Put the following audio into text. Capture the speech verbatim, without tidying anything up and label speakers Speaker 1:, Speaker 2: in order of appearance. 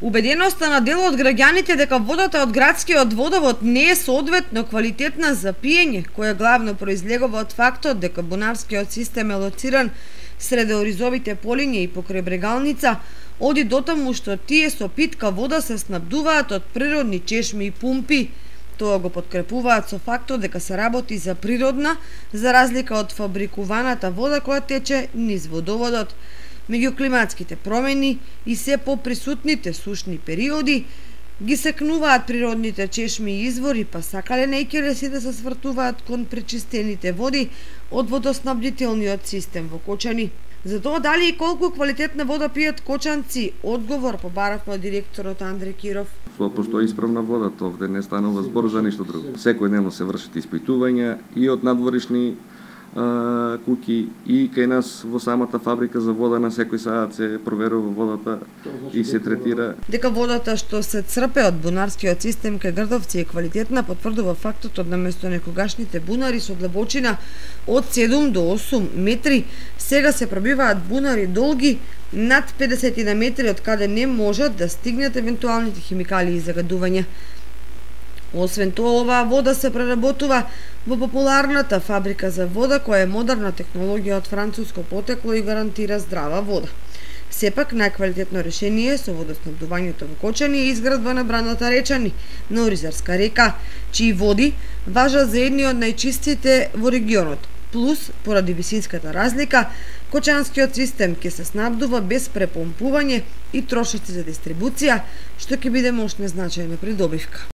Speaker 1: Убеденоста на дел од граѓаните дека водата од градскиот водовод не е соодветно квалитетна за пиење, која главно произлегува од фактот дека бунарскиот систем е лоциран среде оризовите полиња и покрај брегалница, оди дотаму што тие со питка вода се снабдуваат од природни чешми и пумпи. Тоа го подкрепуваат со фактот дека се работи за природна, за разлика од фабрикуваната вода која тече низ водоводот. Меѓу климатските промени и се поприсутните сушни периоди ги секнуваат природните чешми и извори, па сакале не ќе се да се свртуваат кон пречистените води од водоснабдителниот систем во Кочани. За тоа дали и колку квалитетна вода пијат кочанци, одговор побаравме од директорот Андре Киров.
Speaker 2: Постои исправна вода, овде не станува збор за ништо друго. Секојдневно се вршат испитувања и од надворишни а, куќи и кај нас во самата фабрика за вода на секој саат се проверува водата и се третира.
Speaker 1: Дека водата што се црпе од бунарскиот систем кај Грдовци е квалитетна потврдува фактот од наместо некогашните бунари со длабочина од седум до осум метри, сега се пробиваат бунари долги над педесет метри од каде не можат да стигнат евентуалните химикали и загадувања. Освен тоа, оваа вода се преработува во популарната фабрика за вода, која е модерна технологија од француско потекло и гарантира здрава вода. Сепак, најквалитетно решение со водоснабдувањето во Кочани е изградба на браната Речани, на Оризарска река, чии води важат за едни од најчистите во регионот. Плюс, поради висинската разлика, кочанскиот систем ќе се снабдува без препомпување и трошоци за дистрибуција, што ќе биде мощна значајна придобивка.